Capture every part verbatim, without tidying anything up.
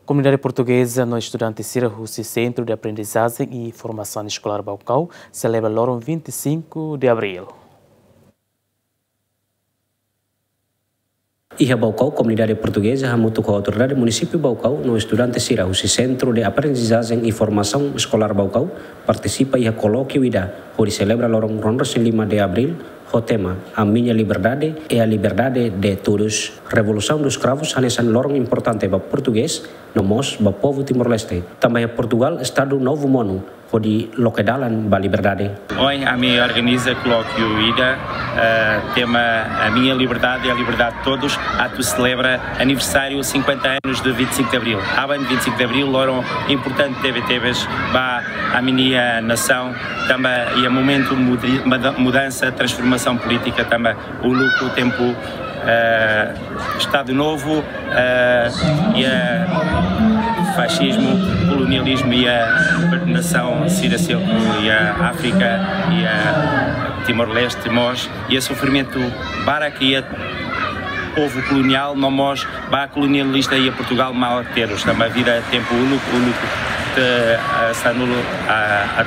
Komunidade portugeza no estudante sira husi Centro de Aprendizagem e Formação Escolar Baucau selebra loron vinte e cinco de abril. Iha Baucau, komunidade portugeza hamutuk ho autoridade munisípiu Baucau no estudante sira husi Centro de Aprendizagem e Formação Escolar Baucau partisipa iha kolókiu ida hodi selebra loron ruanulu-resin-lima de abril ho tema A Minha Liberdade é a Liberdade de Todos. Revolução dos Cravos hanesan loron importante ba portugés no mós ba povu Timor-Leste. Tanba iha Portugal, Estadu Novu monu hodi loke dalan ba liberdade. Ohin ami organiza kolókiu ida, eh, tema A Minha Liberdade é a Liberdade de Todos, atu selebra aniversáriu cinquenta anos de vinte e cinco de Abril. Aban vinte e cinco de Abril, loron importante tebetebes ba ami-nia nasaun, tanba iha momentu mudi-, muda-, mudansa, transformasaun polítika, tanba uluk tempu, eh, Estadu Novu, eh, iha faxismu, kolonializmu, iha nasaun sira seluk, iha Áfrika, iha Timor-Leste mós, iha sofrimentu barak iha povu koloniál, no mós ba kolonialista iha Portugal, malu terus, tanba vida tempu uluk, uluk te, eh, sanulu, ah, ah,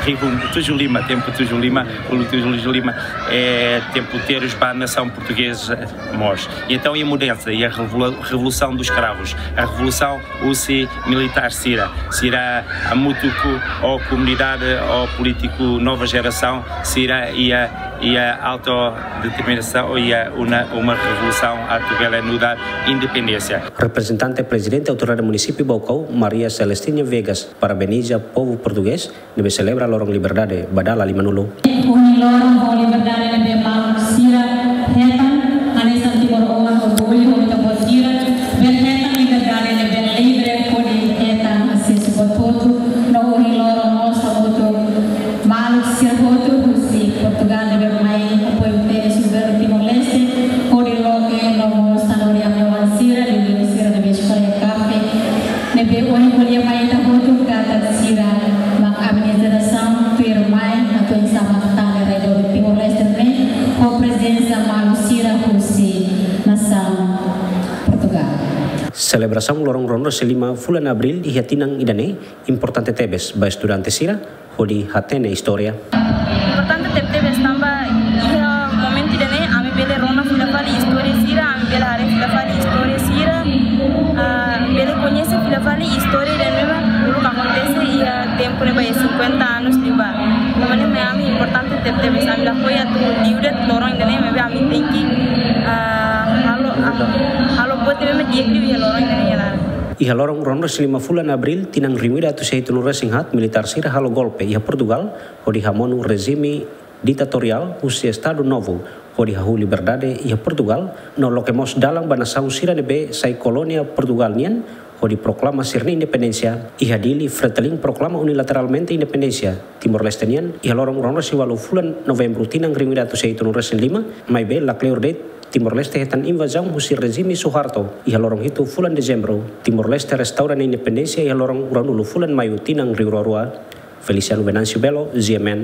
rihun tujuh lima, tempu tujuh lima, uluk tujuh lima, eh, tempu terus ba nasaun portugeza mós. E entaun, iha mudansa, iha revolu-, revolução dos cravos, a revolução husi militár sira, sira hamutuk ho komunidade, ho polítiku nova jerasaun, sira iha, iha autodeterminasaun, iha uma, uma revolusaun atu bele nu'udar independénsia. Reprezentante Prezidente Autoridade Munisípiu Baucau, Maria Celestina Viegas, parabeniza povu portugés ne'ebé selebra loron liberdade ba dala limanulu. Ohin loron ho liberdade ne'ebé maluk sira hetan, hanesan timoroan orgullu ho ita-boot sira, bele hetan liberdade ne'ebé livre hodi hetan asesu ba tuir. No ohin loron mós hamutuk maluk sira hotu husi Portugal ne'ebé mai apoiu tebes governu Timor-Leste, hodi loke no mós sanulu-resin-oan sira, liuliu sira ne'ebé eskola iha Kafe, ne'ebé ohin ko'alia mai ita hotu katak sira mak ami-nia jerasaun tuirmai atu oinsá mak tane rai doben Timor-Leste ne'e ho prezensa maluk sira husi nasaun Portugal. Selebrasaun loron ruanulu-resin-lima fulan Abril iha tinan ida-ne'e importante tebes ba estudante sira hodi hatene istória. Importante tebetebes tanba iha momentu ida-ne'e ami bele rona fila fali istória sira, ami bele haree fila fali istória sira, ah, bele koñese fila fali istória ida-ne'ebé uluk akontese iha tempu ne'ebá, iha cinquenta anos liubá. Tanba ne'e mak ami importante tebetebes, ami lakohi atu liu de'it loron ida-ne'e, maibé ami tenke, ah, halo, ah, halo buat ne'ebé di'ak liu iha loron ida-ne'e, ya. Iha loron ruanulu-resin-lima fulan Abril, tinan rihun ida atus sia hitunulu-resin-haat, militár sira halo golpe iha Portugal, hodi hamonu rejime ditatoriál husi Estadu Novu, hodi hahú liberdade iha Portugal, no loke mós dalan ba nasaun sira ne'ebé sai kolónia Portugal nian, hodi proklama sira-nia independénsia. Iha Dili, Fretilin proklama unilateralmente independénsia Timor-Leste nian iha loron ruanulu-resin-ualu fulan Novembru tinan rihun ida atus sia hitunulu-resin-lima, maibé lakleur de'it Timor-Leste hetan invazaun husi rejime Suharto iha loron hitu fulan Dezembru. Timor-Leste restaura nia independénsia iha loron ruanulu fulan Maiu tinan rihun rua rua. Feliciano Venâncio Belo, G M N.